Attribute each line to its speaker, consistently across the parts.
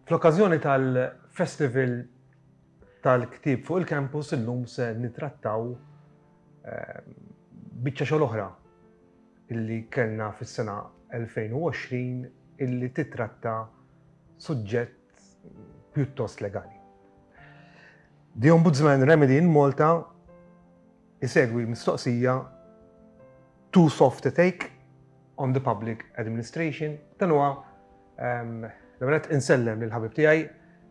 Speaker 1: Fl-okkażjoni tal-Festival tal-Ktieb fuq il-Campus illum se nitrattaw ehm, biċċa xogħol oħra illi kellna fis-sena 2020 illi titratta suġġett pjuttost legali. The Ombudsman Remedy in Malta isegwi mistoqsija too soft to take on the public administration. Dan huwa ehm, l-ewwel insellem lil ħabib tiegħi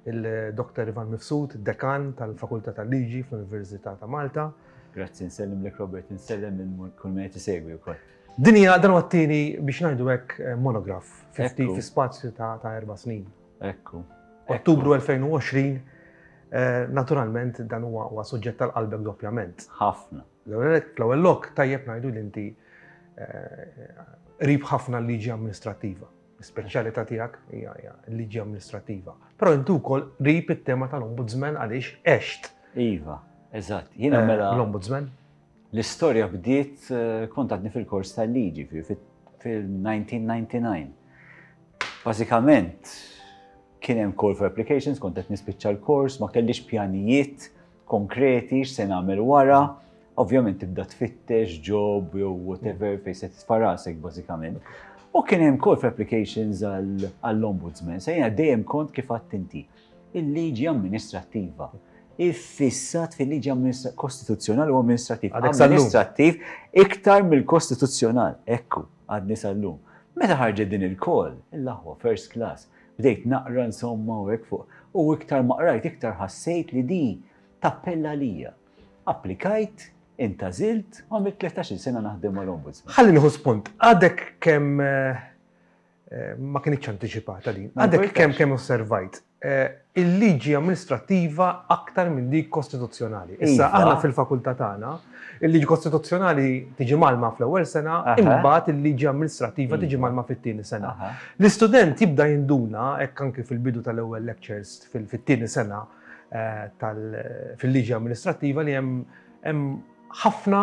Speaker 1: il-Dr. Ivan Mifsud, dekan tal-Fakultà tal-Liġi fl-Università ta' Malta.
Speaker 2: Grazzi, nsellem lek Robert, nsellem lil kull min qed isegwi wkoll.
Speaker 1: Din hija dan huwa t-tieni biex ngħidu hekk eh, monograf fi spazju ta' erba' snin.
Speaker 2: Ekku.
Speaker 1: Ottubru 2020, eh, naturalment dan huwa suġġett tal-qalbek doppjament.
Speaker 2: Ħafna.
Speaker 1: L-ewwel lok tajjeb ngħidu li inti eh, qrib ħafna l-liġi amministrattiva. L-ispeċjalità tiegħek hija l-liġi amministrattiva. Però inti wkoll qrib it-tema tal-Ombudsman għaliex għext.
Speaker 2: Iva, eżatt. Jiena eh, mela.
Speaker 1: L-Ombudsman.
Speaker 2: L-istorja bdiet eh, kont għadni fil-kors tal-liġi fil-1999. Bażikament kien hemm call for applications, kont qed nispiċċa l-kors, ma kellix pjanijiet konkreti x'se nagħmel wara. Ovvjament tibda tfittex job jew whatever fejn se titfa' rasek bażikament. U kien hemm call for applications għall-ombudsman. Se jiena dejjem kont kif għadt inti. Il-liġi amministrattiva. Iffissat fil-liġi kostituzzjonali u amministrattiv. Amministrattiv iktar mill-kostituzzjonal. Ekku, għadni sal-lum. Meta ħarġet din il-call, il-aħwa first class, Bdejt naqra insomma u hekk fuq. U iktar ma qrajt iktar ħassejt li di tappella għalija. Applikajt, intgħażilt u għamilt 13-il sena naħdem mal-Ombudsman.
Speaker 1: Ħalli nieħu spunt. Għadek kemm eh, eh, ma kinitx antiċipata din. Għadek kemm kemm osservajt. Eh, il-liġi amministrattiva aktar minn dik kostituzzjonali. Issa iva. aħna fil-fakultà tagħna, il-liġi kostituzzjonali tiġi malma fl-ewwel sena, imbagħad il-liġi amministrattiva tiġi iva. malma fit-tieni sena. L-istudent jibda jinduna hekk anki fil-bidu tal-ewwel lectures fit-tieni sena eh, fil-liġi amministrattiva li hemm ħafna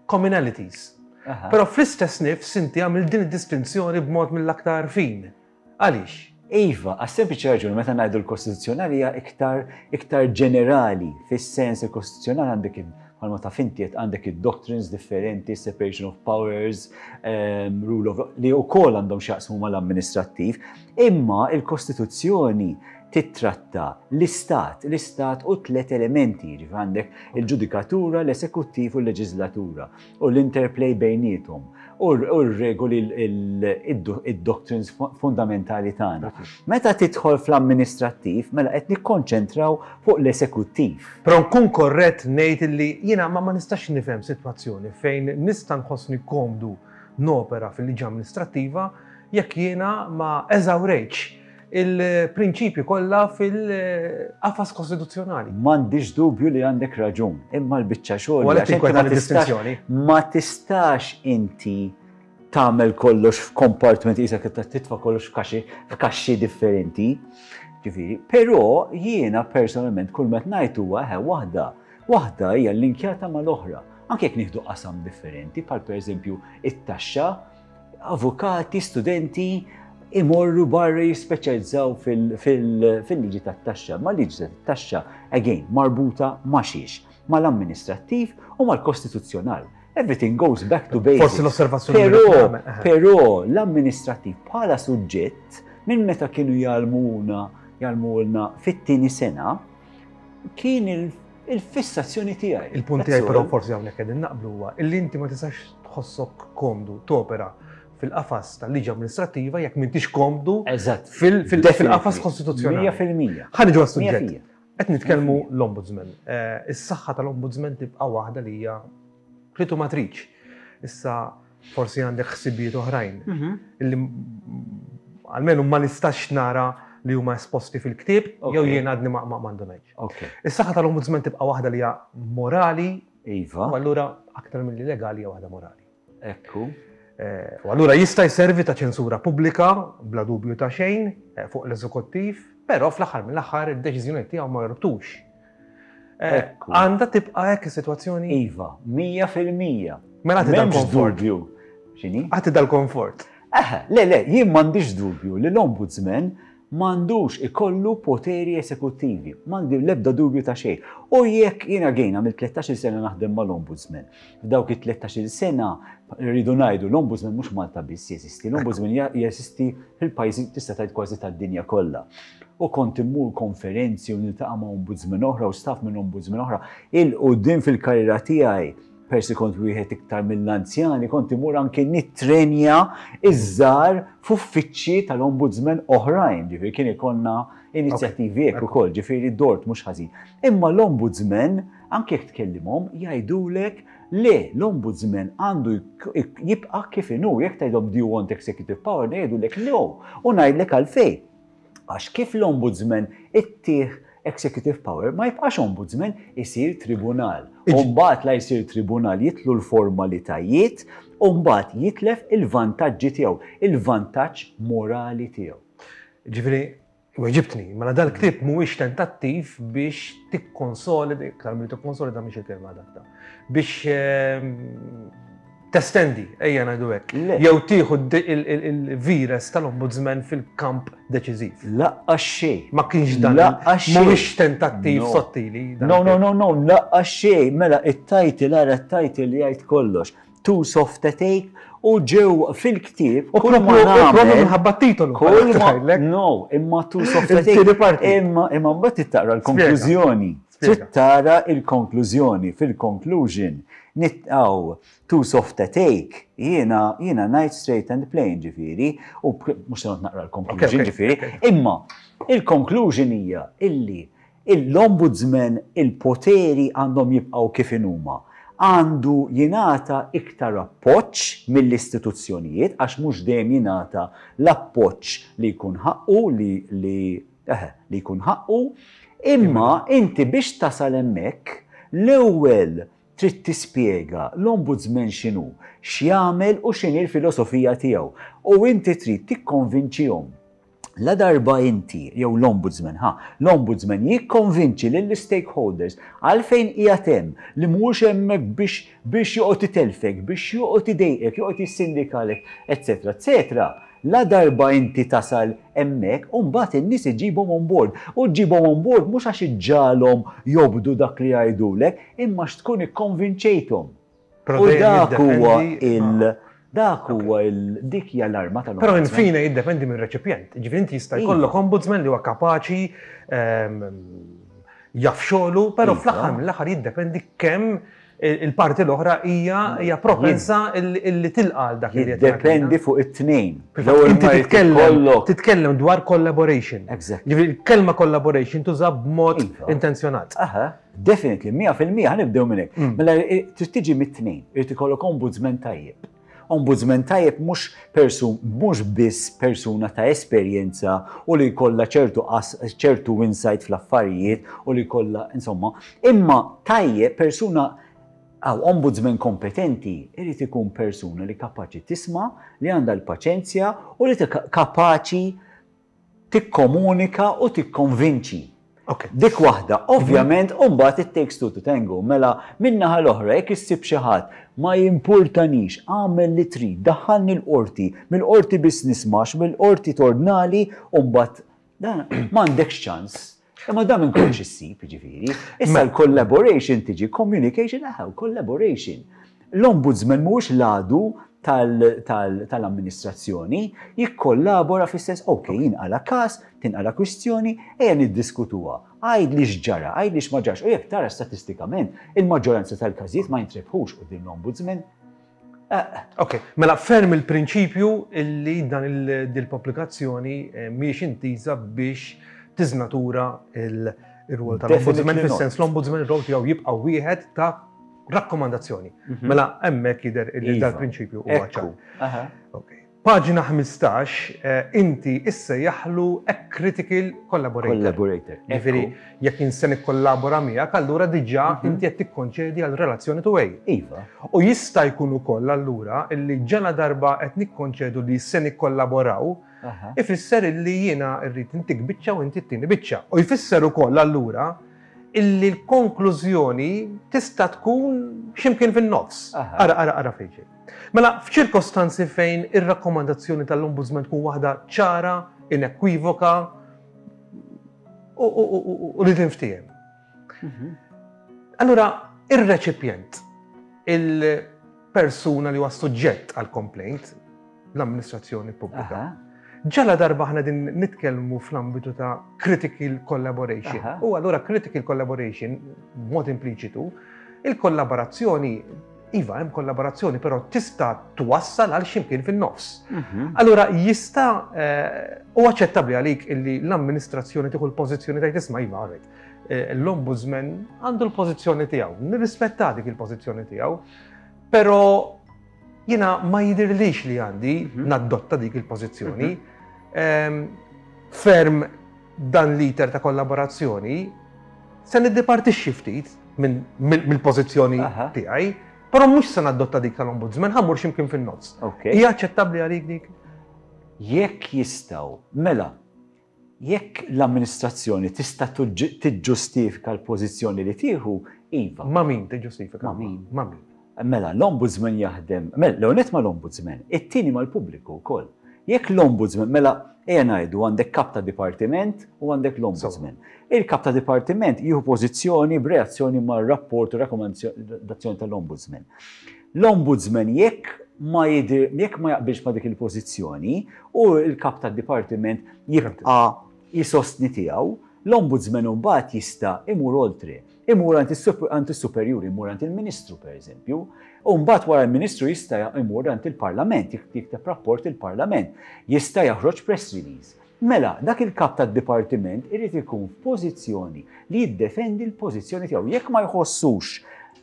Speaker 1: commonalities. Però fl-istess nifs inti għamil din id-distinzjoni b'mod mill-aktar fin. Għaliex?
Speaker 2: Iva, għas-sempliċi raġuni meta ngħidu l-Kostituzzjonali hija iktar iktar ġenerali, fis-sens il-Kostituzzjonali għandek bħalma taf inti qed għandek id-doctrines differenti, separation of powers, ehm, rule of law, li wkoll għandhom x'jaqsmu mal-amministrattiv, imma il-Kostituzzjoni titratta l-istat, l-istat u tlet elementi, jiġifieri għandek il-ġudikatura, l-esekuttiv u l-leġislatura. u l-interplay bejniethom u r-regoli id-doctrines fundamentali tagħna. Meta tidħol fl-amministrattiv, mela qed nikkonċentraw fuq l-esekuttiv.
Speaker 1: Però nkun korrett ngħid li jiena ma nistax nifhem sitwazzjoni fejn nista' nħossni komdu nopera fil-liġi amministrattiva jekk jiena ma eżawrejtx il-prinċipji kollha fil-qafas kostituzzjonali.
Speaker 2: M'għandix dubju li għandek raġun, imma l-biċċa xogħol.
Speaker 1: Għalhekk tinkweta distinzjoni.
Speaker 2: Ma tistax inti tagħmel kollox f'kompartment qisek titfa' kollox f'kaxxi f'kaxxi differenti. Ġifieri, però jiena personalment kull meta ngħid huwa eħe waħda, waħda hija linkjata mal-oħra. Anke jekk nieħdu qasam differenti, bħal pereżempju it-taxxa, avukati, studenti imorru barra jispeċjalizzaw fil-liġi tat-taxxa. Ma liġi tat-taxxa, again, marbuta ma' xiex, mal-amministrattiv u mal-kostituzzjonal. Everything goes back to basics.
Speaker 1: Forsi l-osservazzjoni.
Speaker 2: Però, però l-amministrattiv bħala suġġett minn meta kienu jgħallmuna, jgħallmulna fit-tieni sena, kien il-fissazzjoni tiegħi.
Speaker 1: Il-punt tiegħi però forsi hawnhekk qegħdin naqblu huwa illi inti ma tistax tħossok komdu topera fil-qafas tal-liġi amministrattiva jekk m'intix komdu fil-qafas kostituzzjonali.
Speaker 2: 100%.
Speaker 1: Ħa niġu għas-suġġett. Qed nitkellmu l-Ombudsman. Eh, is-saħħa tal-Ombudsman tibqa' waħda li hija kritu matriċ. Issa forsi għandek ħsibijiet oħrajn mhm. illi għalmenu ma nistax nara li huma esposti fil-ktieb jew jien għadni ma m'għandu ngħid. Is-saħħa tal-Ombudsman tibqa' waħda li hija morali.
Speaker 2: Iva.
Speaker 1: U allura aktar milli legali hija waħda morali.
Speaker 2: Ekku.
Speaker 1: Eh, u allura jista' jservi ta' ċensura pubblika bla dubju ta' xejn eh, fuq l-eżekuttiv, però fl-aħħar mill-aħħar id-deċiżjoni tiegħu ma jorbtux. Eh, għandha tibqa' hekk is-sitwazzjoni?
Speaker 2: Iva, 100%.
Speaker 1: Mela għati dal-komfort.
Speaker 2: dubju. X'inhi?
Speaker 1: Għati dal-komfort.
Speaker 2: Eħe, le, le, jien m'għandix dubju li l-Ombudsman M'għandux ikollu poteri esekuttivi. M'għandi l-ebda dubju ta' xejn. U jekk jiena gejna mill-13-il sena naħdem mal-Ombudsman. F'dawk it-13-il sena rridu ngħidu l-Ombudsman mhux Malta biss jeżisti, l-Ombudsman jeżisti fil-pajjiżi tista' tgħid kważi tad-dinja kollha. U kont immur konferenzi u niltaqa' ma' ombudsman oħra u staff minn ombudsman oħra. Il-quddiem fil-karriera tiegħi Persi kont wieħed iktar mill-anzjani, kont imur anki nittrenja iż-żgħar f'uffiċċji tal-ombudsman oħrajn, ġifieri kien ikollna inizjattivi hekk ukoll, ġifieri dort mhux ħażin. Imma l-ombudsman, anke jekk tkellimhom, jgħidulek le, l-ombudsman għandu jibqa' kif inhu, jekk tgħidhom do you want executive power, jgħidulek no, u ngħidlek għalfejn. Għax kif l-Ombudsman ittih executive power, ma jibqax ombudsman, isir tribunal. U mbagħad la jsir tribunal jitlu l-formalitajiet u mbagħad jitlef il-vantaġġi tiegħu, il-vantaġġ morali tiegħu.
Speaker 1: Ġifieri, weġibtni, mela dal-ktieb mhuwiex tentattiv biex tikkonsolida, iktar milli tikkonsolida mhix il-kelma adatta, biex ehm, testendi, ejja ngħidu hekk. Jew tieħu il-virus tal-ombudsman fil-kamp deċiżiv.
Speaker 2: Laqqa xejn.
Speaker 1: Ma kienx dan.
Speaker 2: Laqqa xejn.
Speaker 1: Mhuwiex tentattiv sottili.
Speaker 2: No, no, no, no, laqqa xejn. Mela it-title ara t-title li jgħid kollox. Too soft a take u ġew fil-ktieb.
Speaker 1: U propju minħabba titolu.
Speaker 2: No, imma too soft a take. Imma imma mbagħad taqra l-konklużjoni. Trid tara l-konklużjoni fil-conclusion. Nitqaw Too soft a take, jiena jiena ngħid straight and plain ġifieri, u mhux se naqra l-conclusion ġifieri, imma il-conclusion hija illi l-ombudsman il-poteri għandhom jibqgħu kif inhuma. Għandu jingħata iktar appoġġ mill-istituzzjonijiet għax mhux dejjem jingħata l-appoġġ li jkun ħaqqu li li eħe, li jkun ħaqqu, imma inti biex tasal hemmhekk l-ewwel Trid tispjega l-Ombudsman x'inhu, x'jagħmel u x'inhi l-filosofija tiegħu. U inti trid tikkonvinċihom. Ladarba inti, jew l-Ombudsman, ħa, l-Ombudsman jikkonvinċi lill-istakeholders għalfejn qiegħed hemm, li mhuwiex hemmhekk biex biex joqgħod itellfek, biex joqgħod idejqek, joqgħod jissindikalek, etcetera, etcetera. Ladarba inti tasal hemmhekk, u mbagħad in-nies iġġibhom on board. U ġġibhom on board mhux għax iġġagħalhom jobdu dak li jgħidulek, imma għax tkun ikkonvinċejthom. U dak huwa il dak huwa il dik hija l-arma tal
Speaker 1: Però infine jiddependi mir-reċipjent. Ġifieri inti jista' iva. jkollok ombudsman li huwa kapaċi ehm, jaf xogħlu, però iva. fl-aħħar mill-aħħar jiddependi kemm il-parti l-oħra hija hija propensa illi tilqa' għal dak li
Speaker 2: Jiddependi fuq it-tnejn.
Speaker 1: Inti titkellem titkellem dwar collaboration. Ġifieri il-kelma collaboration tuża b'mod iva. intenzjonat.
Speaker 2: Aha, definitely, 100% ħanibdew minn hekk. Mm. Mela trid tiġi mit-tnejn, irid ikollok ombudsman tajjeb. Ombudsman tajjeb mhux persun mhux biss persuna ta' esperjenza u li jkollha ċertu ċertu insight fl-affarijiet u li jkollha insomma, imma tajjeb persuna għaw ombudsman kompetenti irid ikun persuna li kapaċi tisma', li għandha l-paċenzja u li kapaċi tikkomunika u tikkonvinċi.
Speaker 1: Okay.
Speaker 2: Dik waħda, ovvjament, u mbagħad it takes two to tango. Mela, min-naħa l-oħra, jekk issib xi ħadd ma jimpurtanix, agħmel li trid, daħħalni l-qorti, mill-qorti biss nismax, mill-qorti tordnali, u mbagħad dan m'għandekx ċans. Imma dan minn kollox issib, jiġifieri. Issa l-collaboration tiġi communication, eħe, collaboration. L-Ombudsman mhuwiex l-għadu tal-amministrazzjoni, jikkollabora fis-sens, ok, jinqala' każ, tinqala' kwistjoni, ejja niddiskutuha. Għidli x'ġara, għidli x'ma ġarax. U jekk tara statistikament, il-maġġoranza tal-każijiet ma jintrebħux quddiem l-Ombudsman.
Speaker 1: Ok, mela ferm il-prinċipju illi dan il-pubblikazzjoni mhijiex intiża biex tiżnatura il-rwol tal-Ombudsman, fis-sens l-Ombudsman ir-rwol tiegħu jibqa' wieħed ta' Rakkomandazzjoni. Mhm. Mela hemmhekk jidher li iva. dal-prinċipju huwa ċar. Paġna 15, eh, inti issa jaħlu a critical collaborator.
Speaker 2: Collaborator.
Speaker 1: Ġifieri, jekk inse nikkollabora miegħek, allura diġà mhm. inti qed tikkonċedi għal relazzjoni tu way.
Speaker 2: Iva.
Speaker 1: U jista' jkun ukoll allura illi ġala darba qed nikkonċedu li se nikkollaboraw, ifisser illi jiena rrid intik biċċa u inti ttini biċċa. U jfisser ukoll allura illi l-konklużjoni tista' tkun x'imkien fin-nofs. Ara, ara, ara fejn ġej. Mela, f'ċirkostanzi fejn ir-rakkomandazzjoni tal-Ombudsman tkun waħda ċara, inekwivoka U li tinftiehem. Allura, ir-reċipjent, il-persuna li huwa suġġett għal complaint, l-amministrazzjoni pubblika. Ġala darba aħna din nitkellmu fl-ambitu ta' critical collaboration. U allura critical collaboration, b'mod impliċitu, il-kollaborazzjoni, iva hemm kollaborazzjoni, però tista' twassal għal ximkien fin-nofs. Allura jista' eh, u aċċettabbli għalik illi l-amministrazzjoni tieħu l-pożizzjoni tgħid isma' iva għarret. Eh, l-ombudsman għandu l-pożizzjoni tiegħu, nirrispetta dik il-pożizzjoni tiegħu, però Jiena ma jidhirlix li għandi mhm. nadotta dik il-pożizzjoni. Mhm. Ehm, ferm dan l-iter ta' kollaborazzjoni se niddipartixxi ftit mill-pożizzjoni tiegħi, però mhux se nadotta dik tal-ombudsman, ħammur x'imkien fin-nofs. Hija aċċettabbli għalik dik?
Speaker 2: Jekk jistgħu, mela, Jekk l-amministrazzjoni tista' tiġġustifika l-pożizzjoni li tieħu, iva.
Speaker 1: Ma' min tiġġustifika?
Speaker 2: Ma' min?
Speaker 1: Ma' min?
Speaker 2: Mela, l-Ombudsman jaħdem, mela, l-ewwel nett mal-Ombudsman, it-tieni mal-pubbliku wkoll. Jekk l-Ombudsman, mela, ejja ngħidu għandek kap ta' dipartiment u għandek l-Ombudsman. Il-kap ta' dipartiment jieħu pożizzjoni b'reazzjoni mar-rapport u rakkomandazzjoni tal-Ombudsman. L-Ombudsman jekk ma jidhir, jekk ma jaqbilx ma' dik il-pożizzjoni u l-kap tad-dipartiment jibqa' jsostni tiegħu, l-Ombudsman imbagħad jista' imur oltre, imur għand is-superjuri, imur għand il-Ministru pereżempju, u mbagħad wara l-Ministru jista' imur għand il-Parlament, jikteb rapport il-Parlament, jista' joħroġ press release. Mela, dak il-kap tad-dipartiment irid ikun f'pożizzjoni li jiddefendi l-pożizzjoni tiegħu. Jekk ma jħossux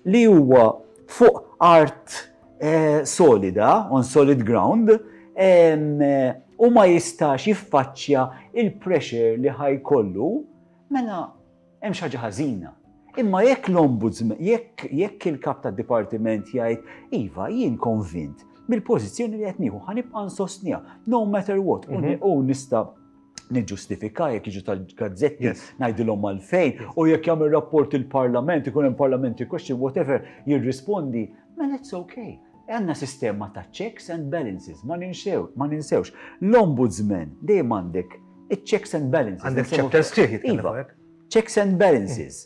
Speaker 2: li huwa fuq art eh, solida, on solid ground, u ma jistax jiffaċċja il-pressure li ħajkollu, mela Hemm xi ħaġa ħażina. Imma jekk l-ombudsman, jekk jekk il-kap tad-dipartiment jgħid, iva, jien konvint mill-pożizzjoni li qed nieħu ħa nibqa' nsostniha, no matter what, u mhm. nista' niġġustifika jekk jiġu tal-gazzetti ngħidilhom għalfejn, u jekk jagħmel rapport il-Parlament, ikun hemm parliamentary question, whatever, jirrispondi, mela it's okay. Għandna sistema ta' checks and balances, ma ninsew, ma ninsewx. L-ombudsman dejjem għandek Iċ-checks and balances.
Speaker 1: Għandek chapter sħiħ jitkellem
Speaker 2: iva. fuq hekk. Checks and balances.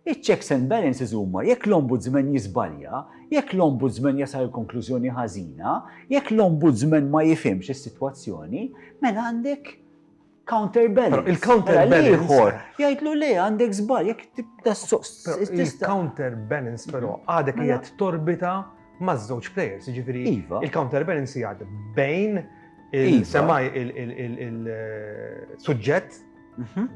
Speaker 2: Iċ-checks and balances huma jekk l-ombudsman jiżbalja, jekk l-ombudsman jasal konklużjoni ħażina, jekk l-ombudsman ma jifhimx is-sitwazzjoni, mela għandek counterbalance.
Speaker 1: Il-counterbalance.
Speaker 2: Mela ieħor jgħidlu le għandek żball jekk tibda
Speaker 1: Il-counterbalance però għadek mela- qiegħed torbita maż-żewġ players, jiġifieri
Speaker 2: iva.
Speaker 1: il-counterbalance jgħad bejn il-semaj il-suġġett, mhm.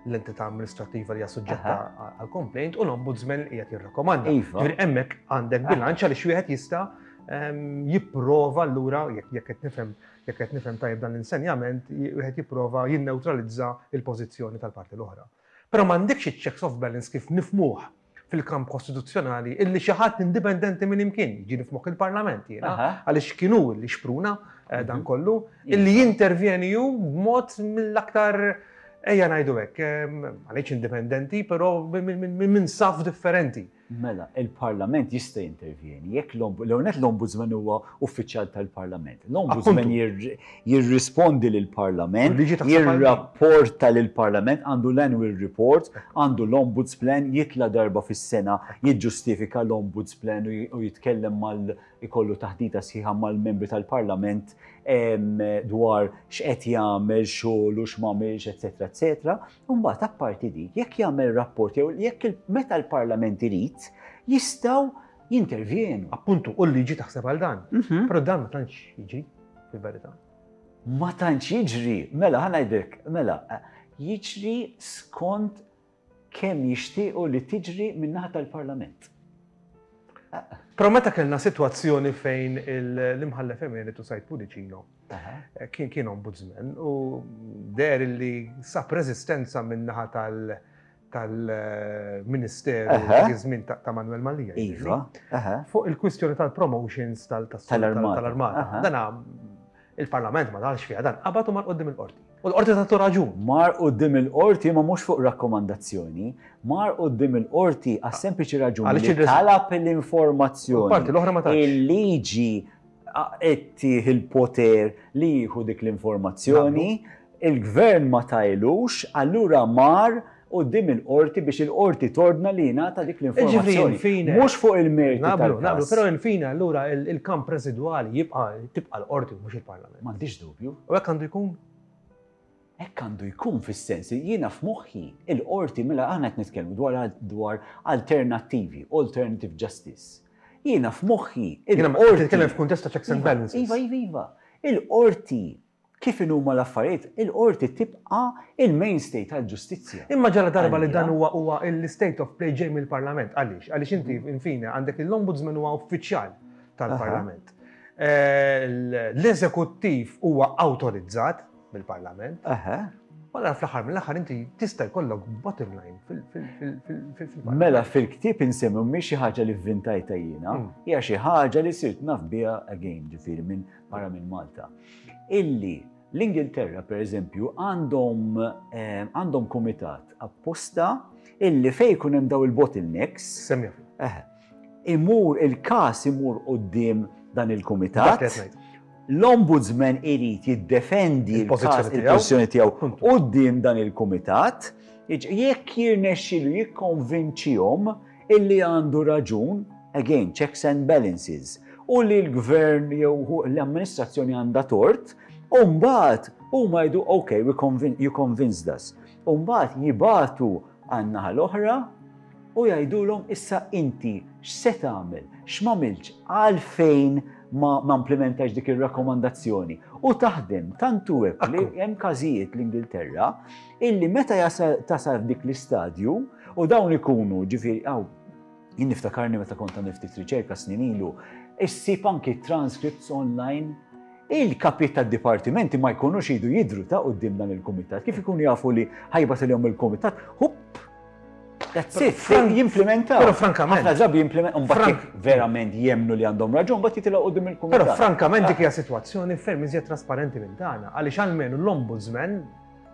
Speaker 1: l-entità amministrativa li hija suġġetta għal complaint u l-ombudsman li qiegħed jirrakkomanda.
Speaker 2: Iva.
Speaker 1: Ġifieri hemmhekk għandek bilanċ għaliex wieħed jista' jipprova allura jekk qed nifhem jekk qed nifhem tajjeb dan l-insenjament, wieħed jipprova jinnewtralizza il-pożizzjoni tal-parti l-oħra. Però m'għandekx iċ-checks of balance kif nifmuh fil-kamp kostituzzjonali illi xi ħadd indipendenti minn imkien, jiġi f'moħħ il-Parlament jiena, għaliex kien hu li xpruna eh, dan mhm. kollu, illi jintervjeni hu b'mod mill-aktar ejja ngħidu hekk, eh, għaliex indipendenti, però minn saf differenti.
Speaker 2: Mela, il-Parlament jista' jintervjeni jekk l-ewwel l-Ombudsman huwa uffiċjal tal-Parlament. L-Ombudsman jirrispondi lill-Parlament, jirrapporta lill-Parlament, għandu l-annual report, għandu l-Ombuds Plan, jitla' darba fis-sena jiġġustifika l-Ombuds Plan u jitkellem mal ikollu taħdita sħiħa mal-membri tal-Parlament dwar x'qed jagħmel, xogħlu, x'm'għamilx, eċetera, eċetera. Imbagħad apparti dik, jekk jagħmel rapport jew jekk meta l-Parlament irid, jistgħu jintervjenu.
Speaker 1: Appuntu, u l-liġi taħseb għal dan. Mhm. Però dan ma tantx jiġri, fil-verità.
Speaker 2: Ma tantx jiġri, mela ħa ngħidlek, mela, jiġri skont kemm jixtiequ li tiġri min-naħa tal-Parlament.
Speaker 1: Però meta kellna sitwazzjoni fejn l-imħallef emeritu Said Pudicino eh, kien kien ombudsman u der li sab reżistenza min-naħa tal- tal-Ministeru dak iż-żmien ta' Manuel Mallia.
Speaker 2: Iva.
Speaker 1: Fuq il-kwistjoni tal-promotions tal-armata. Dana il-Parlament ma dalx fiha dan qabad u mar qudiem il-qorti. U l-qorti tagħtu raġun.
Speaker 2: Mar quddiem il-qorti ma mhux fuq rakkomandazzjoni, mar quddiem il-qorti għas-sempliċi raġuni li talab l-informazzjoni.
Speaker 1: Parti l-oħra ma
Speaker 2: Il-liġi ittih il-poter li jieħu dik l-informazzjoni, il-gvern ma tajlux, allura mar quddiem il-qorti biex il-qorti tordna li jingħata dik l-informazzjoni. Mhux fuq il-merti.
Speaker 1: Naqblu, naqblu, però infine allura il-kamp residwali jibqa' tibqa' l-qorti mhux il-Parlament.
Speaker 2: M'għandix dubju.
Speaker 1: U hekk għandu jkun?
Speaker 2: Hekk għandu jkun fis-sens li jiena f'moħħi il-qorti mela aħna qed nitkellmu dwar dwar alternattivi, alternative justice. Jiena f'moħħi
Speaker 1: il-qorti. Titkellem f'kuntest ta' checks and
Speaker 2: iva,
Speaker 1: balances.
Speaker 2: Iva, iva, iva. Il-qorti kif inhuma l-affarijiet, il-qorti tibqa' il-mainstay tal-ġustizzja.
Speaker 1: Imma ġala darba li dan huwa huwa l-state of play ġej mill-Parlament. Għaliex? Għaliex inti infine għandek l-Ombudsman huwa uffiċjal tal-Parlament. Eh, l-eżekuttiv huwa awtorizzat mill-Parlament. Mela fl-aħħar mill-aħħar inti tista' jkollok bottom line fil-Parlament.
Speaker 2: Mela fil-ktieb insemmi mhix xi ħaġa li vvintajta jiena, hija xi ħaġa li sirt naf biha again, ġifieri minn barra minn Malta. Illi l-Ingilterra pereżempju għandhom eh, għandhom kumitat apposta illi fejn ikun hemm daw il-bottlenecks.
Speaker 1: Semmi.
Speaker 2: Imur il-każ imur quddiem dan il-kumitat. L-Ombudsman irid jiddefendi il-pożizzjoni tiegħu quddiem dan il-kumitat. Jekk jirnexxilu jikkonvinċihom illi għandu raġun, again, checks and balances, u li l-gvern jew l-amministrazzjoni għandha tort, u mbagħad huma jgħidu ok, you convinced us. U mbagħad jibagħtu għan-naħa l-oħra u jgħidulhom issa inti x'se tagħmel, x'm'għamiltx, għalfejn ma ma implimentajtx dik ir-rakkomandazzjoni. U taħdem tant hu hekk li hemm każijiet l-Ingilterra illi meta jasal tasal f'dik l-istadju u dawn ikunu ġifieri hawn jien niftakarni meta kont għamil ftit riċerka snin ilu, issib anki transcripts online Il-kapijiet tad-dipartimenti ma jkunux jridu jidhru ta' quddiem dan il-kumitat. Kif ikunu jafu li ħajbatilhom il-kumitat, hupp, that's it, jimplementaw.
Speaker 1: Però frankament.
Speaker 2: Ħafna drabi jimplementaw, mbagħad jekk verament jemmnu li għandhom raġun, mbagħad jitilgħu quddiem il-kumitat.
Speaker 1: Però frankament dik hija sitwazzjoni ferm iżjed trasparenti minn tagħna, għaliex almenu l-ombudsman,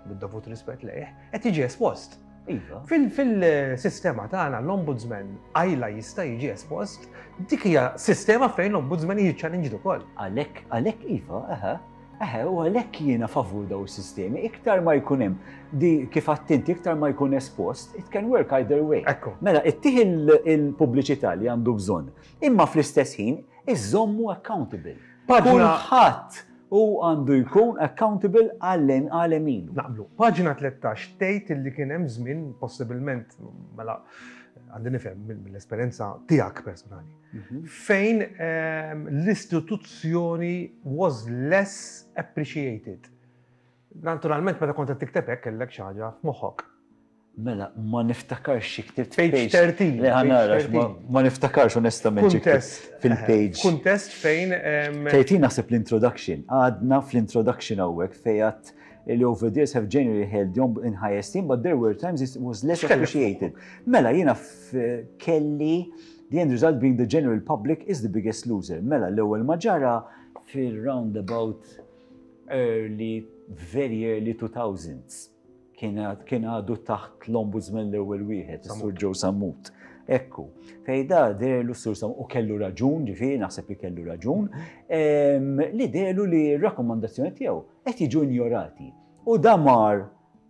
Speaker 1: bid-dovut rispett lejh, qed jiġi espost.
Speaker 2: Iva.
Speaker 1: Fil-sistema tagħna l-ombudsman għajla jista' jiġi espost, dik hija sistema fejn l-ombudsman jiġi challenged ukoll.
Speaker 2: Għalhekk, għalhekk iva, eħe, eħe, u għalhekk jiena favur daw is-sistemi, iktar ma jkun hemm di kif għattinti iktar ma jkun espost, it can work either way.
Speaker 1: Ekku.
Speaker 2: Mela, ittih il-pubbliċità li għandu bżonn, imma fl-istess ħin iżommu accountable. Kulħadd u għandu jkun accountable għal għemilu.
Speaker 1: Naqblu. Paġna 13 tgħid illi kien hemm żmien possibilment mela għandi nifhem mill-esperjenza tiegħek personali. Mhm. Fejn ehm, l-istituzzjoni was less appreciated. Naturalment meta kont qed tikteb hekk kellek xi ħaġa f'moħħok.
Speaker 2: Mela, ma niftakarx xi ktibt
Speaker 1: page 13.
Speaker 2: Le ħanara, ma niftakarx onestament xi
Speaker 1: ktibt
Speaker 2: fil-page.
Speaker 1: Kuntest fejn.
Speaker 2: 13 naħseb l-introduction. Għadna fl-introduction hawnhekk fejn għad li over the years have generally held the in high esteem, but there were times it was less appreciated. Mela, jiena kelli the end result being the general public is the biggest loser. Mela, l-ewwel ma ġara fil-roundabout early, very early 2000s. Kien għadu taħt l-Ombudsman l-ewwel wieħed, is-Sur Joe Sammut. Ekku, fejn da deherlu s-Sur Sammut, u kellu raġun, ġifieri naħseb li kellu raġun, li deherlu li r-rakkomandazzjoni tiegħu qed jiġu injorati. U da mar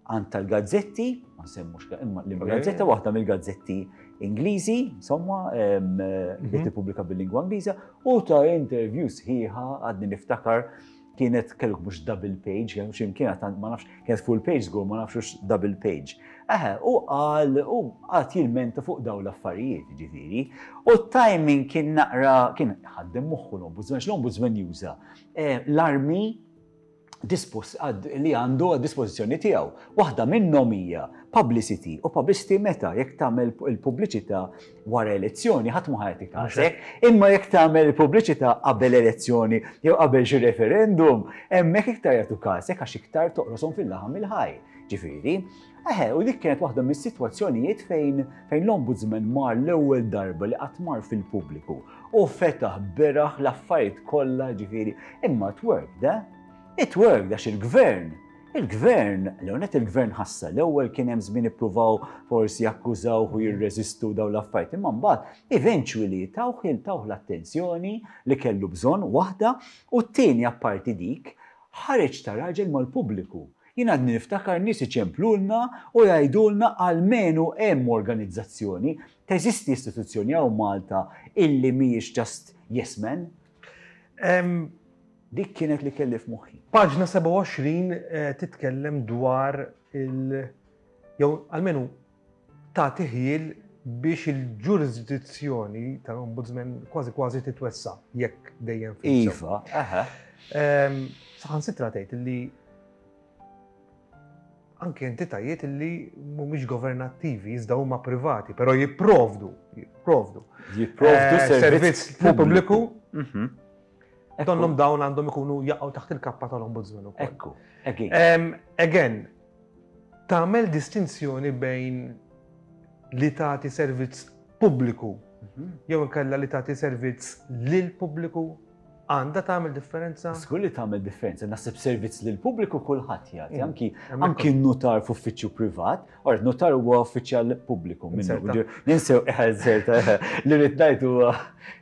Speaker 2: għand tal-gazzetti, ma nsemmux imma l-gazzetta waħda mill-gazzetti Ingliżi, insomma, li tippubblika bil-lingwa Ingliża, u ta' interview sħiħa għadni niftakar kienet kellek mhux double page, jew xi mkien ma nafx, kienet full page żgur ma nafx double page. Eħe, u qal u qagħad jilmenta fuq dawn l-affarijiet, ġifieri. U t-timing kien naqra kien ħaddem moħħu l-ombudsman, l-ombudsman juża eh, l-armi li għandu għad dispożizzjoni tiegħu. Waħda minnhom hija publicity u publicity meta jekk tagħmel il-pubbliċità wara elezzjoni ħadd ma ħajti kasek, imma jekk tagħmel il-pubbliċità qabel elezzjoni jew qabel xi referendum, hemmhekk iktar jagħtu kasek għax iktar toqroshom fil-laħam il-ħaj. Ġifieri, eħe, u dik kienet waħda mis-sitwazzjonijiet fejn fejn l-Ombudsman mar l-ewwel darba li qatt mar fil-pubbliku u fetaħ beraħ l-affarijiet kollha ġifieri, imma it worked, eh? It worked għax il-gvern Il-gvern, l-ewwel il-gvern ħassa l-ewwel kien hemm żmien ippruvaw forsi jakkużawh u jirreżistu dawn l-affarijiet, imma mbagħad eventually tawh tawh l-attenzjoni li kellu bżonn waħda u t-tieni apparti dik ħareġ ta' raġel mal-pubbliku. Jien għadni niftakar nies iċemplulna u jgħidulna almenu hemm organizzazzjoni, teżisti istituzzjoni hawn Malta illi mhijiex just yes men. Dik kienet li kelli f'moħħi.
Speaker 1: Paġna 27 eh, titkellem dwar il- jew almenu tagħti ħjiel biex il-ġurisdizzjoni tal-Ombudsman kważi kważi titwessa jekk dejjem
Speaker 2: fil Iva, aha.
Speaker 1: Ehm, saħansitra tgħid li anke entitajiet li mhumiex governattivi, iżda huma privati, però jipprovdu, jipprovdu.
Speaker 2: Jipprovdu
Speaker 1: eh, servizz pubbliku. Mhm. Donnhom dawn għandhom ikunu jaqgħu taħt il-kappa tal-Ombudsman
Speaker 2: ukoll. Ekku, again. Ehm,
Speaker 1: again, tagħmel distinzjoni bejn li tagħti servizz pubbliku mhm. jew inkella li tagħti servizz lil pubbliku għandha tagħmel differenza?
Speaker 2: Żgur li tagħmel differenza, naħseb servizz lil pubbliku kulħadd jagħti, mm. anki anki notar f'uffiċċju privat, or notar huwa uffiċjal pubbliku minnu. Ninsew eh, eh, li rrid ngħid huwa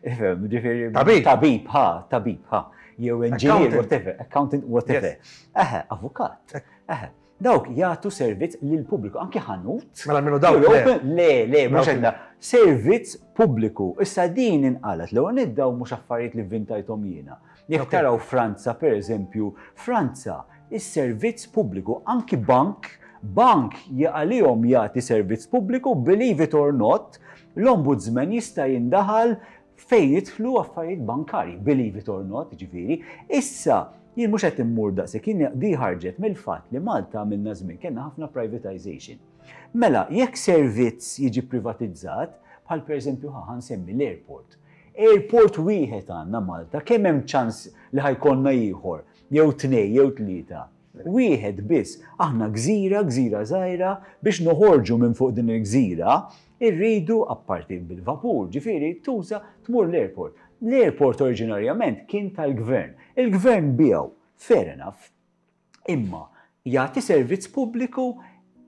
Speaker 2: ifhem, ġifieri
Speaker 1: tabib,
Speaker 2: tabib, ha, tabib, ha, jew engineer, whatever, accountant, whatever. Eħe, avukat. Eħe. Dawk jagħtu servizz lill-pubbliku, anki ħanut.
Speaker 1: Mela minnu dawk.
Speaker 2: Le, le, le mhux għandna. Servizz pubbliku. Issa din inqalet l-ewwel niddaw mhux affarijiet li vvintajthom jiena. Jekk taraw Franza, per eżempju, Franza, is-servizz pubbliku, anki bank, bank għalihom jagħti servizz pubbliku, believe it or not, l-ombudsman jista' jindaħal fejn jidħlu affarijiet bankarji, believe it or not, ġifieri. Issa, jien mhux qed immur daqshekk, jien di ħarġet mill-fatt li Malta għamilna żmien kellna ħafna privatization. Mela, jekk servizz jiġi privatizzat, bħal pereżempju ħa nsemmi l-airport. Airport wieħed għandna Malta, kemm hemm ċans li ħa jkollna ieħor, jew tnej, jew tlieta. Wieħed biss. Aħna gżira, gżira żgħira, biex noħorġu minn fuq din il-gżira, irridu, apparti bil-vapur, ġifieri, tuża tmur l-airport. L-airport oriġinarjament kien tal-gvern. Il-gvern biegħu, fair enough. Imma jagħti servizz pubbliku?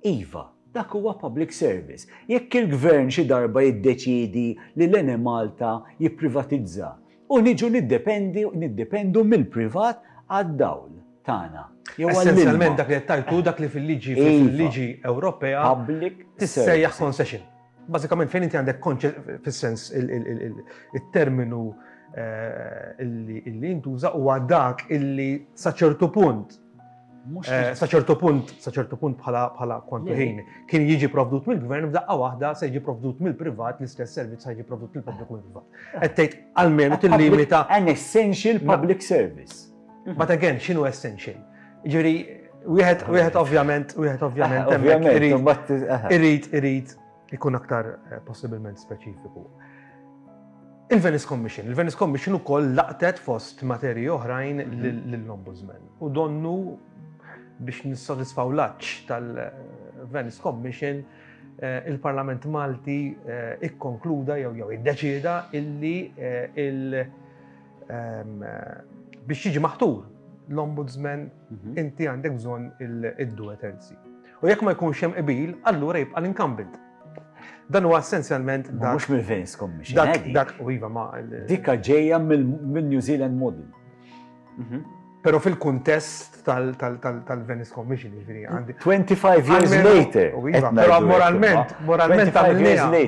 Speaker 2: Iva, dak huwa public service. Jekk il-gvern xi darba jiddeċiedi li l-Enemalta jipprivatizza, U niġu niddependi niddependu mill-privat għad-dawl tagħna.
Speaker 1: Jew Essenzjalment dak li qed tgħid hu dak li fil-liġi iva. fil-liġi Ewropea
Speaker 2: public
Speaker 1: tissejjaħ concession. Bażikament fejn inti għandek fis-sens il-terminu eh, illi jintuża huwa dak illi sa ċertu punt Eh, sa ċertu punt, sa ċertu punt bħala bħala kontu ħin, kien jiġi provdut mill-gvern f'daqqa waħda se jiġi provdut mill-privat l-istess servizz se jiġi provdut mill-pubbliku mill-privat. Qed tgħid almenu tillimita.
Speaker 2: An essential public service.
Speaker 1: But again, x'inhu essential? Ġifieri, wieħed wieħed ovvjament, wieħed ovvjament irid irid ikun aktar eh, possibilment speċifiku. Il-Venice Commission. Il-Venice Commission ukoll laqtet fost materji oħrajn mhm. lill-Ombudsman. U donnu biex nissodisfaw l-għatx tal-Venice Commission, eh, il-Parlament Malti eh, ikkonkluda jew jew iddeċieda illi eh, il ehm, biex jiġi maħtur l-Ombudsman mhm. inti għandek bżonn il-due terzi. U jekk ma jkunx hemm qbil, allura jibqa' l-incumbent. Dan huwa essenzjalment
Speaker 2: dak. Mhux mill-Venice Commission.
Speaker 1: Dak, eh, dak, u iva ma.
Speaker 2: Dikka ġejja mill-New Zealand model.
Speaker 1: Mhm. Pero fil-kuntest tal-Venice Commission, ġifieri
Speaker 2: għandi. 25 years later.
Speaker 1: U iva, pero moralment, moralment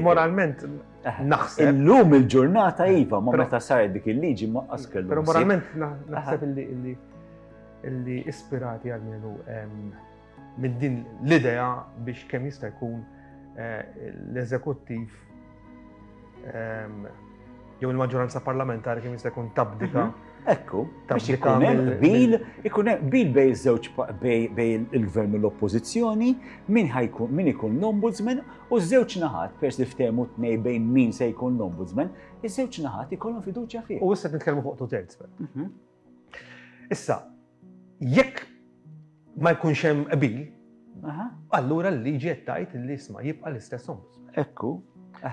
Speaker 1: moralment eh, naħseb.
Speaker 2: Illum il-ġurnata iva, ma meta saret dik il-liġi ma qaskellu.
Speaker 1: Pero moralment naħseb illi illi ispirati għalmenu minn din l-idea biex kemm jista' jkun eh, l-eżekuttiv ehm, jew il-maġġoranza parlamentari kemm jista' jkun tabdika.
Speaker 2: Mhm. Ekku, biex ikun hemm qbil, ikun hemm qbil bej żewġ bej il-gvern u l-oppożizzjoni, min ħajkun min ikun l-ombudsman u ż-żewġ naħat pers li ftehmu tnej bejn min se jkun l-ombudsman, iż-żewġ naħat ikollhom fiduċja fih.
Speaker 1: U issa nitkellmu fuq two thirds. Mhm. Issa, jekk ma jkunx hemm qbil, allura l-liġi qed tgħid li isma' jibqa' l-istess ombudsman.
Speaker 2: Ekku.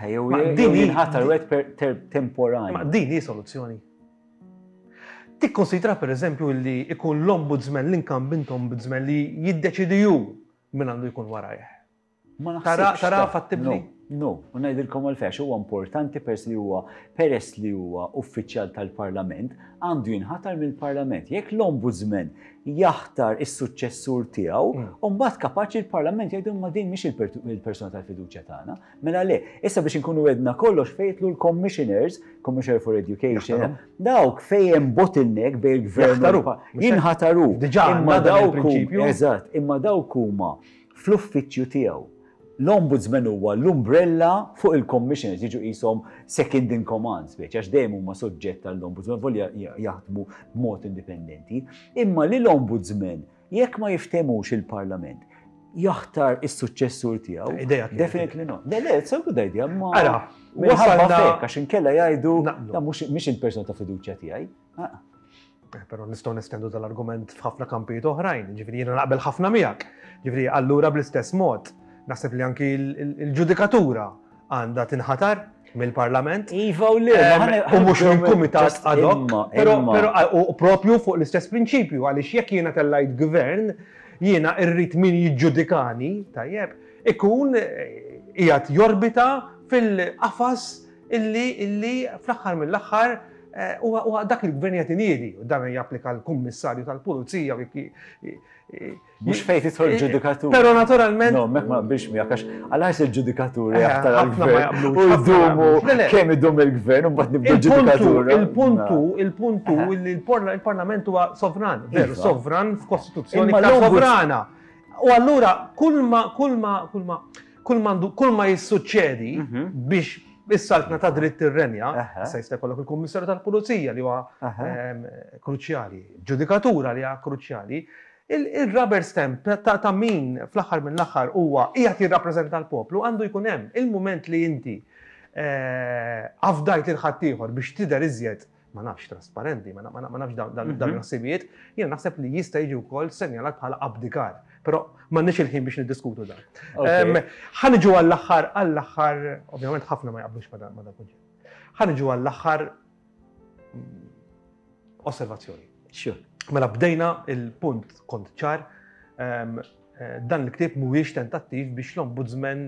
Speaker 2: Jew din jinħatar wieħed temporanju.
Speaker 1: Ma din hi soluzzjoni. Tikkonsidra pereżempju li ikun l-ombudsman, l-incumbent ombudsman li jiddeċidi hu min għandu jkun warajh.
Speaker 2: Ma naħsibx.
Speaker 1: Tara fattibbli?
Speaker 2: No, u ngħidilkom għalfejn għax huwa importanti peress li huwa peress li huwa uffiċjal tal-Parlament għandu jinħatar mill-Parlament. Jekk l-Ombudsman jaħtar is-suċċessur tiegħu, mm. u mbagħad kapaċi l-Parlament jgħidu ma din mhix il-persuna tal-fiduċja tagħna. Mela le, issa biex inkunu għedna kollox fejtlu l-Commissioners, Commissioner for Education, dawk fejn hemm bottleneck bejn il-gvern jinħataru.
Speaker 1: Diġà imma dawk
Speaker 2: Eżatt, imma dawk huma fl-uffiċċju tiegħu. L-Ombudsman huwa l-umbrella fuq il-Commissioners, jiġu qishom second in command, speċi, għax dejjem huma soġġett għall-Ombudsman, volja jaħdmu b'mod indipendenti. Imma li l-Ombudsman, jekk ma jiftehmux il-Parlament, jaħtar is-suċċessur tiegħu.
Speaker 1: Idea
Speaker 2: Definitely not. Le, le, it's a good idea, ma.
Speaker 1: Ara,
Speaker 2: wasalna għax inkella jgħidu, mhux il-persuna ta' fiduċja tiegħi. Ah.
Speaker 1: Eh, però nistgħu nestendu dal-argument f'ħafna kampijiet oħrajn, ġifieri jiena naqbel ħafna miegħek. Ġifieri allura bl-istess mod, naħseb li anki il-ġudikatura għandha tinħatar mill-Parlament.
Speaker 2: Iva u le,
Speaker 1: u mhux minn kumitat ad hoc, però u propju fuq l-istess prinċipju għaliex jekk jiena tellajt gvern, jiena rrid min jiġġudikani, tajjeb, ikun eh, qiegħed jorbita fil-qafas illi illi fl-aħħar mill-aħħar eh, huwa dak il-gvern qed iniedi u dan japplika l-kummissarju tal-pulizija u
Speaker 2: Mhux fejn tidħol eh, ġudikatur.
Speaker 1: Però naturalment.
Speaker 2: No, mek ma biex miegħek għax għal il-ġudikatur eh, jaħtar għall-gvern. U jdumu kemm idum il-gvern u mbagħad nibdu ġudikatur.
Speaker 1: Il-puntu, il-puntu li il-Parlament huwa sovran, veru iva. sovran f'kostituzzjoni sovrana. U allura kull ma kull ma kull ma Kull mandu, kull ma jissuċċedi mhm. biex is-saltna ta' dritt tirrenja, issa jista' jkollok il-Kummissarju tal-Pulizija li huwa ehm, kruċjali, ġudikatura li huwa kruċjali, il-rubber stamp ta' min fl-aħħar mill-aħħar huwa qiegħed jirrappreżenta l-poplu għandu jkun hemm. Il-mument li inti eh, afdajt lil ħaddieħor biex tidher iżjed ma nafx trasparenti, ma nafx dawn mhm. il-ħsibijiet, jiena naħseb li jista' jiġi wkoll senjalat bħala abdikar. Però m'għandniex il-ħin biex niddiskutu dan. Ħa niġu għall-aħħar, għall-aħħar, ovvjament ħafna ma jaqblux ma dan kunċett. Ħa niġu għall-aħħar mm, osservazzjoni. Mela bdejna il-punt kont ċar, eh, dan il-ktieb mhuwiex tentattiv biex l-ombudsman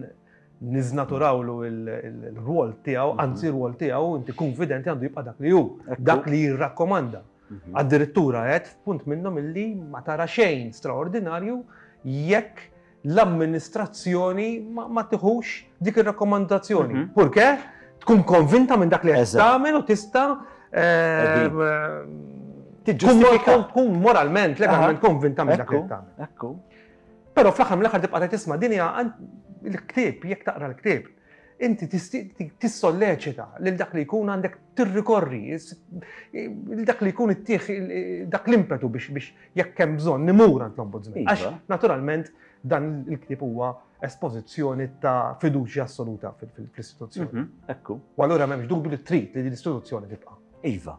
Speaker 1: niżnaturawlu il-rwol tiegħu, mhm. anzi r-rwol tiegħu inti konfidenti għandu jibqa' dak li hu, dak li jirrakkomanda. Mhm. Addirittura qed f'punt minnhom illi ma tara xejn straordinarju jekk l-amministrazzjoni ma tiħux dik ir-rakkomandazzjoni. Mhm. Purke tkun konvinta minn dak li qed tagħmel u tista' ehm, tkun moralment, legalment konvinta minn dak li qed tagħmel.
Speaker 2: Ekku.
Speaker 1: Però fl-aħħar mill-aħħar tibqa' tgħid isma' din hija l-ktieb, jekk taqra l-ktieb, inti tissolleċita lil dak li jkun għandek tirrikorri, lil dak li jkun ittieħ dak l-impetu biex biex jekk hemm bżonn nimur għand l-ombudsman. Iva. Għax naturalment dan il-ktieb huwa espożizzjoni ta' fiduċja assoluta fl-istituzzjoni. Mhm,
Speaker 2: ekku.
Speaker 1: U allura m'hemmx dubju li trid li l-istituzzjoni tibqa'.
Speaker 2: Iva,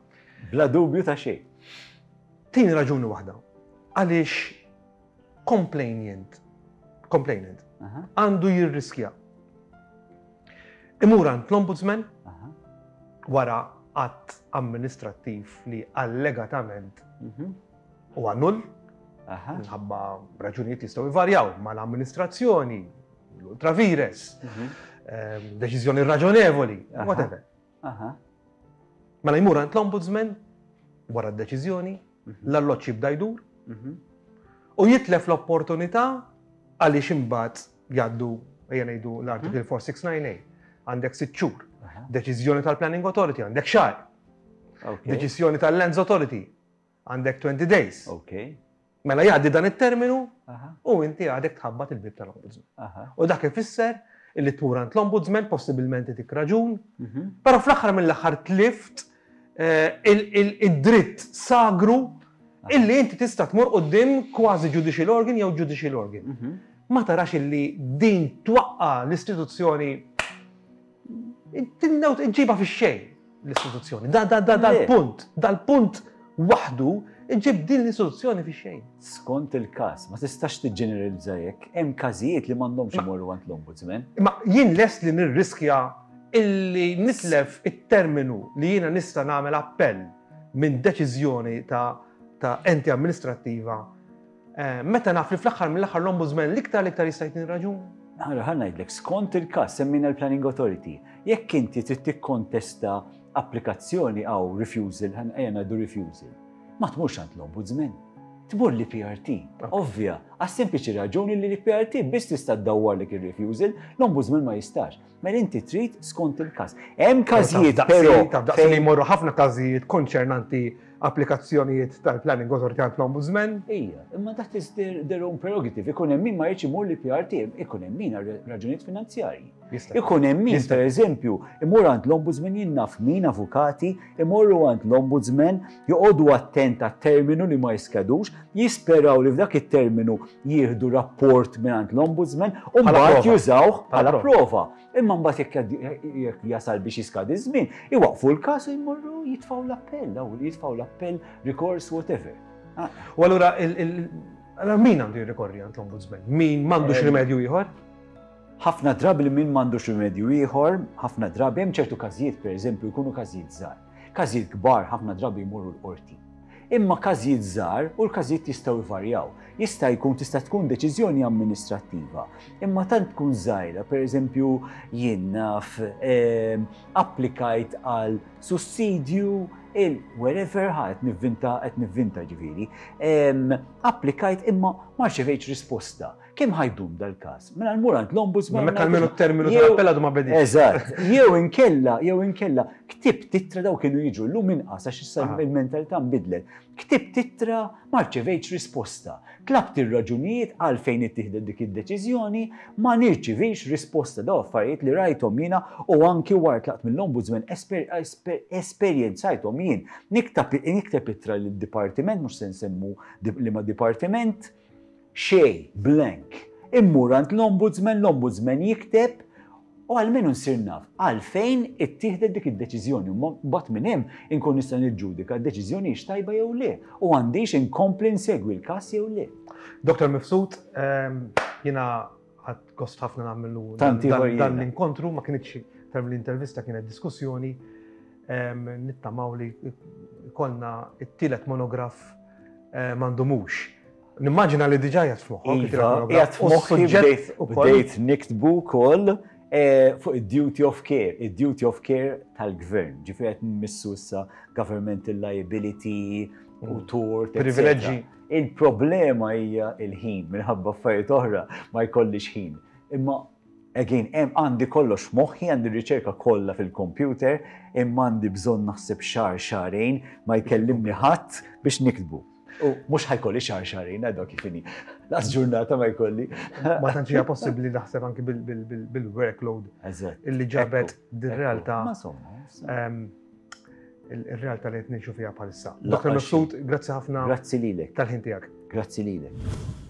Speaker 2: bla dubju ta' xejn.
Speaker 1: Tieni raġuni waħda. Għaliex complainant, complainant, għandu jirriskja. Imur għand l-ombudsman wara att amministrattiv li allegatament mhm. huwa null, minħabba raġunijiet jistgħu jvarjaw mal-amministrazzjoni, l-ultravires, mhm. ehm, deċiżjoni raġonevoli, whatever. Mela jmur għand l-ombudsman wara d-deċiżjoni, mhm. l-alloċ jibda jdur mhm. u jitlef l-opportunità għaliex imbagħad jgħaddu ejja ngħidu l-article 469A mhm. għandek sitt xhur. Deċiżjoni tal-Planning Authority għandek xahar. Deċiżjoni tal-Lands Authority għandek 20 days. Mela jgħaddi dan it-terminu u inti għadek tħabbat il-bib tal-ombudsman. U dak ifisser illi tmur għand l-ombudsman possibilment itik raġun, mhm. però fl-aħħar mill-aħħar tlift eh, id-dritt sagru illi inti tista' tmur quddiem kważi judicial organ jew judicial organ. Mhm. Ma tarax illi din twaqqa l-istituzzjoni Tinnewt iġġibha fix-xejn l-istituzzjoni. Da da da dal-punt, dal-punt waħdu iġib din l-istituzzjoni fix-xejn.
Speaker 2: Skont il-każ, ma tistax tiġġeneralizza hekk, hemm każijiet li m'għandhomx imorru għand l-Ombudsman.
Speaker 1: Imma jien lest li nirriskja illi nitlef it-terminu li jiena nista' nagħmel appell minn deċiżjoni ta' ta' enti amministrattiva eh, meta naf li fl-aħħar mill-aħħar l-Ombudsman l-iktar l-iktar jista' jtini raġun.
Speaker 2: Ħa ngħidlek, skont il-każ semmejna l-Planning Authority, jekk inti trid tikkontesta applikazzjoni għaw refusal, ejja ngħidu refusal, ma tmurx għand l-Ombudsman. Tmur l-PRT, ovvja, għas sempliċi raġuni li l-PRT biss tista' ddawwarlek ir-refusal, l-Ombudsman ma jistax. Mela inti trid skont il-każ. Hemm każijiet però.
Speaker 1: Taf daqs li jmorru ħafna każijiet konċernanti applikazzjonijiet tal-Planning Authority għand l-Ombudsman.
Speaker 2: Ija, imma that is their, their own prerogative. Ikun hemm min ma jridx imur li PRT, ikun hemm min għal raġunijiet finanzjarji. Ikun hemm min, per eżempju, imur għand l-Ombudsman jien naf min avukati, imorru għand l-Ombudsman, joqogħdu attent għat-terminu li ma jiskadux, jisperaw li f'dak it-terminu jieħdu rapport minn għand l-Ombudsman u mbagħad jużawh bħala prova. Imma mbagħad jekk jasal biex jiskadi ż-żmien, iwaqfu l-każ u jmorru jitfgħu l-appell, jitfgħu l-appell, rikors, whatever.
Speaker 1: Ah. U allura min għandu jirrikorri għand l-Ombudsman? Min m'għandux eh, rimedju ieħor?
Speaker 2: Ħafna drabi li min m'għandux rimedju ieħor, ħafna drabi hemm ċertu każijiet pereżempju jkunu każijiet żgħar. Każijiet kbar ħafna drabi jmorru l-qorti. Imma każijiet żgħar u l-każijiet jistgħu jvarjaw. Jista' jkun tista' tkun deċiżjoni amministrattiva, imma tant tkun żgħira, pereżempju jien naf ehm, applikajt għal sussidju il wherever ħa qed nivvinta qed nivvinta ġifieri. Ehm, applikajt imma ma rċevejtx risposta. Kemm ħa jdum dal-każ? Mela nmur għand l-Ombudsman.
Speaker 1: Meta almenu t-terminu tal-appell għadu ma bedix.
Speaker 2: Eżatt. Jew inkella, jew inkella, ktibt ittra daw kienu jiġu llum inqas għax issa il-mentalità nbidlet. Ktibt ittra ma rċevejtx risposta. Tlabt ir-raġunijiet għalfejn ittieħdet dik id-deċiżjoni, ma nirċivix risposta. Daw affarijiet li rajthom jiena u anki wara tlaqt mill-Ombudsman esperjenzajthom jien. Nikteb ittra lid-dipartiment, mhux se nsemmu liema dipartiment, Xejn, blank. Immur għand l-Ombudsman, l-Ombudsman jikteb u almenu nsir naf għalfejn ittieħdet dik id-deċiżjoni u mbagħad minn hemm inkun nista' niġġudika d-deċiżjoni hix tajba jew le u għandix inkompli nsegwi l-każ jew le.
Speaker 1: Dr. Mifsud, ehm, jiena ħadd gost ħafna nagħmlu dan l-inkontru, ma kienx term l-intervista kienet diskussjoni, ehm, nittamaw li kolna it-tielet monograf eh, m'għandumux. Nimmaġina li diġà qiegħed f'moħħok.
Speaker 2: Iva, qiegħed f'moħħi bdejt niktbu wkoll eh, fuq id-duty of care, id-duty of care tal-gvern. Ġifieri qed nmissu issa governmental liability u mm. tort.
Speaker 1: Privileġġi.
Speaker 2: Il-problema hija il-ħin minħabba affarijiet oħra ma jkollix ħin. Imma again, hemm għandi kollox f'moħħi, għandi riċerka kollha fil-computer, imma għandi bżonn naħseb xahar xahrejn ma jkellimni ħadd biex niktbu. U mhux ħajkolli xahar xahrejn, għadha kif inhi. Laqas ġurnata ma jkolli.
Speaker 1: Ma tantx hija possibbli naħseb anki bil-workload illi ġabet dir-realtà. Ehm, il-realtà li qed ngħixu fiha bħalissa. Dr. Mifsud, grazzi ħafna.
Speaker 2: Grazzi lilek.
Speaker 1: Tal-ħin tiegħek.
Speaker 2: Grazzi lilek.